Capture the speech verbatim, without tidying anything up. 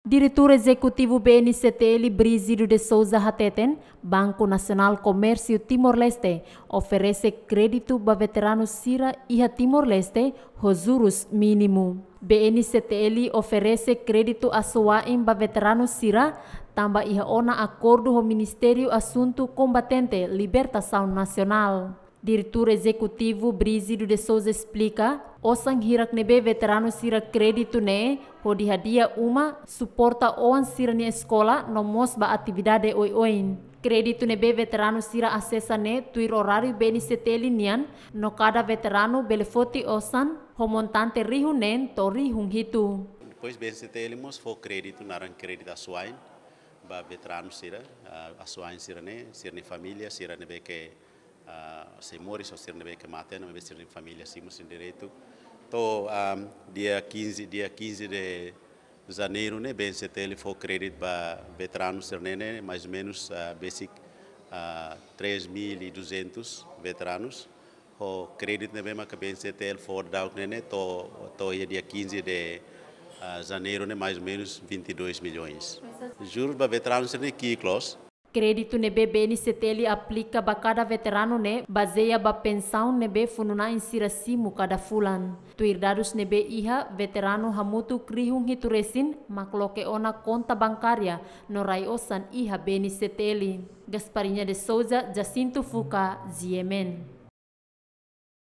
Diretór Ezekutivu B N C T L, Brígido de Sousa, hateten Banku Nasionál Komérsiu Timor-Leste oferese kréditu ba veteranu sira iha Timor-Leste ho jurus mínimu. B N C T L oferese kréditu asuwa'in ba veteranu sira tanba iha ona akordu ho Ministériu Asuntu Kombatente Libertasaun Nasionál. Diretór Ezekutivu Brígido de Sousa esplika, osan hirak ne'ebé veteranu sira kréditu ne'e hodi hadi'a uma, suporta oan sira-nia eskola no mós ba atividade oioin. Kréditu ne'ebé veteranu sira asesa ne'e tuir oráriu B N C T L nian, no kada veteranu bele foti osan ho montante rihun neen to'o rihun hitu. Depois B N C T L mós fó kréditu, naran kréditu asuwa'in ba veteranu sira, ah, asuwa'in sira-ne'e, sira-nia família, sira ne'ebé ke, ah, sei moris, ou sira ne'ebé ke mate, no maibé sira-nia família simu sira-nia direitu. To'o, ah, dia quinze, dia quinze de janeiro ne'e, B N C T L fó kréditu ba veteranu sira-ne'e, mais ou menos, ah, besik, ah, três mil e duzentos veteranus. Ho kréditu ne'ebé maka B N C T L fó daudaun ne'e, to'o, to'o iha dia quinze de, ah, janeiro ne'e, mais ou menos vinte e dois milhões. Jurus ba veteranu sira-ne'e ki'ik loos. Kréditu ne'ebé B N C T L aplika ba kada veteranu ne'e bazeia ba pensaun ne'ebé funu-na'in sira simu kada fulan. Tuir dadus ne'ebé iha, veteranu hamutuk rihun hitu resin mak loke ona konta bankária no rai osan iha B N C T L. Gasparinha de Sousa, Jacinto Fuca, G M N.